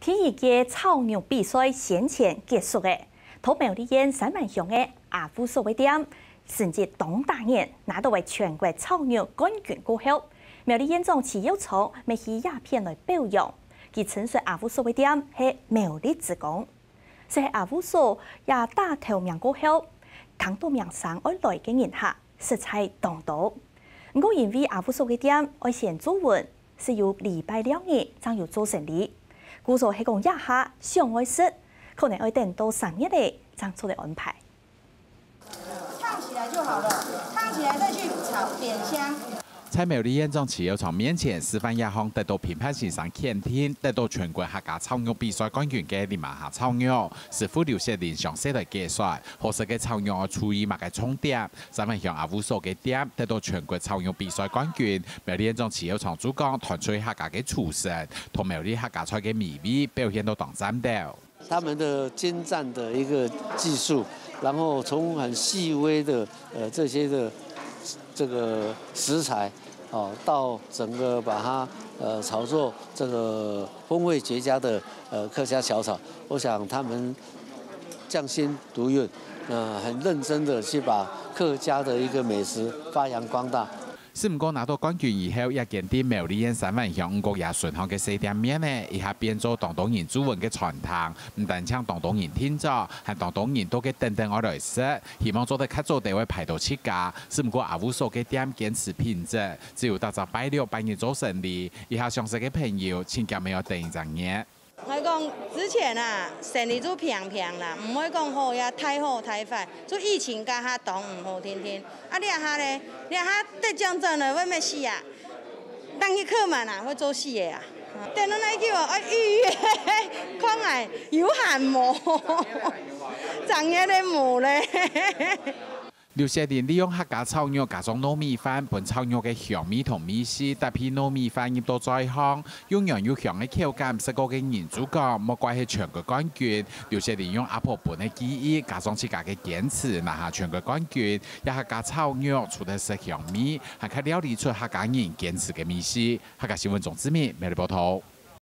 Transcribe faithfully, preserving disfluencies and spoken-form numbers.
第一屆炒肉比賽先前結束了，在苗栗縣三灣鄉个阿富嫂个店，成績當打眼，拿到了全國炒肉冠軍過後，苗栗縣長徐耀昌乜去這片來表揚，佢稱讚阿富嫂个店係苗栗之光。 就係阿富嫂也打頭名過後，聽到名聲愛來个人客實在當多。毋過因為阿富嫂个店愛先注文，係有禮拜六日正有做生理，故所係講這下想愛食，可能愛等到三月了正做得安排。燙起來就好了，燙起來再去炒點香。 在苗栗縣長徐耀昌面前示範這項得到評判先生肯定、得到全國客家炒肉比賽冠軍个林媽媽炒肉，師傅劉雪玲詳細來解說，好食个炒肉愛注意麼个重點。三灣鄉阿富嫂个店得到全國炒肉比賽冠軍，苗栗縣長徐耀昌就講，團隊客家个廚神，同苗栗客家菜个美味表現到當讚斗。 他们的精湛的一个技术，然后从很细微的呃这些的这个食材哦，到整个把它呃炒作这个风味绝佳的呃客家小炒，我想他们匠心独运，呃很认真的去把客家的一个美食发扬光大。 毋過拿到冠軍以後，這間在苗栗縣三灣鄉五角野脣項个細店面呢，一下變做當多人注文个餐廳，毋單淨當多人訂座，還當多人到該等等愛來食，希望做得較早兜會排到自家。毋過阿富嫂个店堅持品質，只有逐隻拜六、拜日做生理，一下想食个朋友，盡遽乜愛等一隻月。 𠊎講之前啊，生理就平平啦，毋會講好也太好太壞，就疫情該下當毋好定定。啊這下咧，這下得獎狀了，會毋會死啊？當去客滿啊，會做死个啊。等到哪久啊，愛預約，看下有閒無？正月咧無咧。 劉雪玲利用客家炒肉加上糯米飯，分炒肉个香味同味緒搭配糯米飯入到嘴項，又軟又香个口感，食過个人就講，莫怪係全國冠軍。劉雪玲用阿婆分个技藝，加上自家个堅持，拿下全國冠軍。這客家炒肉除了食香味，還較料理出客家人堅持个味緒。客家新聞鍾志明，苗栗報導。